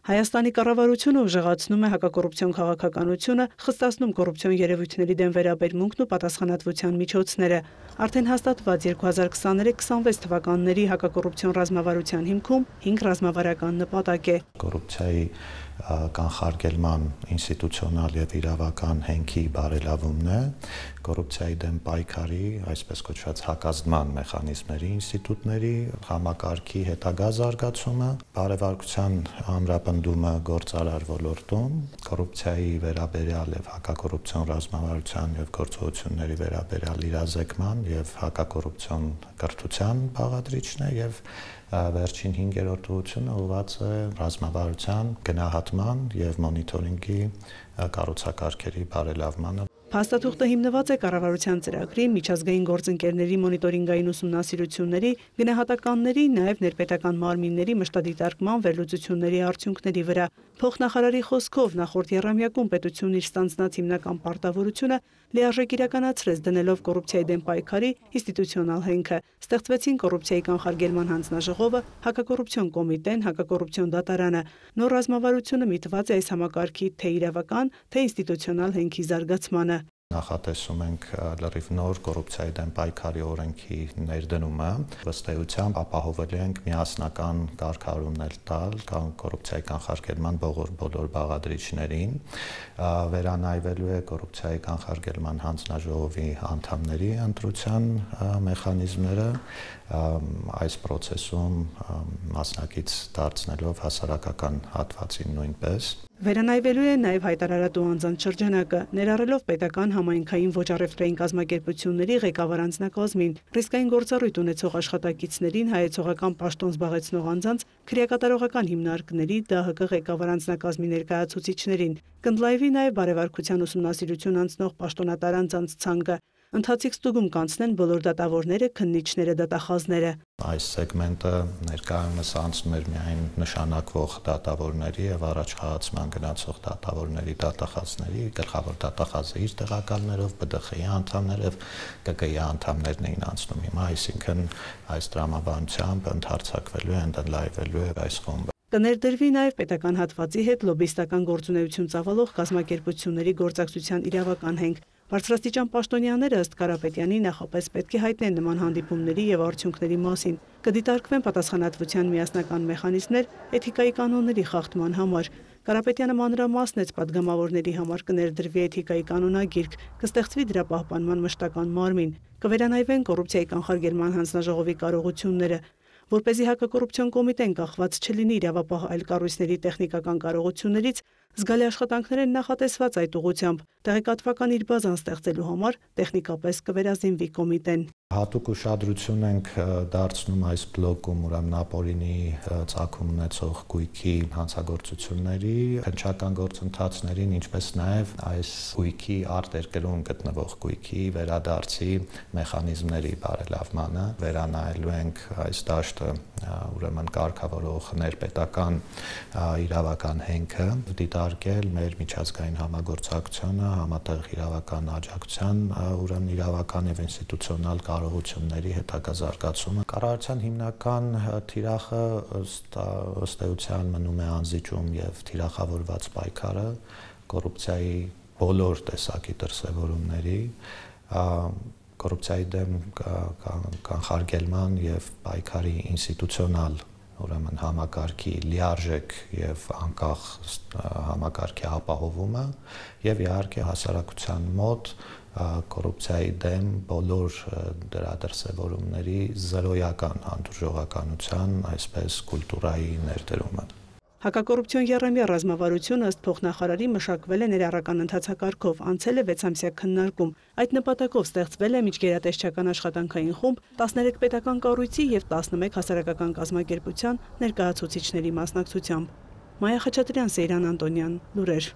Հայաստանի կառավարությունը ուժեղացնում է հակակոռուպցիոն քաղաքականությունը, խստացնում կոռուպցիոն երևույթների դեմ վերաբերմունքն ու պատասխանատվության միջոցները։ Արդեն հաստատված 2023-26 թվականների հակակոռուպցիոն ռազմավարության հիմքում 5 ռազմավարական նպատակ է։ Կոռուպցիայի կանխարգելման ինստիտուցիոնալ եւ իրավական հենքի բարելավումն է, կոռուպցիայի դեմ պայքարի, այսպես կոչված հակազդման մեխանիզմների, ինստիտուտների համակարգի հետագա զարգացումը, բարեվարկության ամրապնդումը գործարար ոլորտում, կոռուպցիայի վերաբերյալ եւ հակակոռուպցիոն ռազմավարության եւ գործողությունների վերաբերյալ իրազեկման եւ հակակոռուպցիոն կրթության բաղադրիչն է եւ վերջին 5-րդ ուղղությունը ուղղված է ռազմավարության գնահատման եւ մոնիթորինգի կառուցակարգերի բարելավմանը։ Փաստաթուղթը հիմնված է կառավարության ծրագրի, միջազգային գործընկերների մոնիտորինգային ուսումնասիրությունների, գնահատականների, նաև ներպետական մարմինների մշտադիտարկման վերլուծությունների արդյունքների վրա։ Փոխնախարարի խոսքով նախորդ եռամյակում պետությունն իր ստանձնած հիմնական պարտավորությունը լիարժեք իրականացրեց դնելով կոռուպցիայի դեմ պայքարի ինստիտուցիոնալ հենքը։ Ստեղծվեցին կոռուպցիայի կանխարգելման հանձնաժողովը, հակակոռուպցիոն կոմիտեն, հակակոռուպցիոն դատարանը։ Նոր ռազմավարությունը միտված է այս համակարգի թե իրավական, թե ինստիտուցիոնալ հենքի զարգացմանը։ Նախատեսում ենք լրիվ նոր կոռուպցիայի դեմ պայքարի օրենքի ներդնումը, ըստ էության ապահովելու ենք միասնական կարգավորումներ տալ կոռուպցիայի կանխարգելման բոլոր բաղադրիչներին, վերանայվելու է կոռուպցիայի կանխարգելման հանձնաժողովի անդամների ընտրության մեխանիզմները, այս process-ում մասնակից դարձնելով հասարակական հատվածին նույնպես։ Վերանայվելու է նաև հայտարարատու անձանց շրջանակը, ներառելով պետական համայնքային ոչ առևտրային կազմակերպությունների ղեկավար անձնակազմին, ռիսկային գործառույթ ունեցող աշխատակիցներին, հայեցողական պաշտոն զբաղեցնող անձանց, քրեակատարողական հիմնարկների, ԴՀԿ ղեկավար անձնակազմի ներկայացուցիչներին, կընդլայնվի նաև բարեվարկության ուսումնասիրություն անցնող պաշտոնատար անձանց ցանկը։ Ընթացիկ ստուգում կանցնեն բոլոր դատավորները, քննիչները, դատախազները։ Այս սեգմենտը ներկայումս անցնում էր միայն նշանակվող դատավորների եւ առաջխաղացման գնացող դատավորների, դատախազների, գլխավոր դատախազը իր տեղակալներով, ԲԴԽ-ի անդամներ եւ ԿԿ-ի անդամներն էին անցնում հիմա, այսինքն այս տրամաբանությամբ ընդհարցակվելու է, ընդլայնվելու է այս խումբը։ Կներդրվի նաև պետական հատվածի հետ լոբիստական գործունեություն ծավալող կազմակերպությունների գործակցության իրավական հենք։ Բարձրաստիճան պաշտոնյաները ըստ Կարապետյանի նախապես պետք է հայտնեն նման հանդիպումների եւ արդյունքների մասին, կդիտարկվեն պատասխանատվության միասնական մեխանիզմներ էթիկայի կանոնների խախտման համար։ Կարապետյանը մանրամասնեց պատգամավորների համար կներդրվի էթիկայի կանոնագիրք, կստեղծվի դրա պահպանման մշտական մարմին, կվերանայվեն կոռուպցիայի կանխարգելման հանձնաժողովի կարողությունները, որպեսզի հակակոռուպցիոն կոմիտեն կախված չլինի իրավապահ այլ կառույցների տեխնիկական կարողություններից, զգալի աշխատանքներ են նախատեսված այդ ուղղությամբ։ Տեղեկատվական իր բազան ստեղծելու համար տեխնիկապես կվերազինվի կոմիտեն։ Հատուկ ուշադրություն ենք դարձնում այս բլոկում ուրեմն ապօրինի ծագում ունեցող գույքի հանցագործությունների, քննչական գործընթացներին, ինչպես նաև այս գույքի արտերկրում գտնվող գույքի վերադարձի մեխանիզմների բարելավմանը, վերանայելու ենք այս դաշտը ուրեմն կարգավորող ներպետական իրավական հենքը, դիտարկել մեր միջազգային համագործակցությունը, համատեղ իրավական աջակցության ուրեմն իրավական եւ ինստիտուցիոնալ կարողությունների հետագա զարգացումը։ Կառավարության հիմնական թիրախը ըստ էության մնում է անզիջում եւ թիրախավորված պայքարը կոռուպցիայի բոլոր տեսակի դրսևորումների, կոռուպցիայի դեմ կանխարգելման եւ պայքարի ինստիտուցիոնալ ուրեմն համակարգի լիարժեք եւ անկախ համակարգի ապահովումը եւ իհարկե հասարակության մոտ կոռուպցիայի դեմ բոլոր դրա դրսևորումների զրոյական հանդուրժողականության, այսպես կուլտուրայի ներդրումը։ Հակակոռուպցիոն եռամյա ռազմավարությունը ըստ փոխնախարարի մշակվել է ներառական ընթացակարգով, անցել է 6-ամսյա քննարկում։ Այդ նպատակով ստեղծվել է միջգերատեսչական աշխատանքային խումբ 13 պետական կառույցի եւ 11 հասարակական կազմակերպության ներկայացուցիչների մասնակցությամբ։ Մայա Խաչատրյան, Սեյրան Անտոնյան, լուրեր։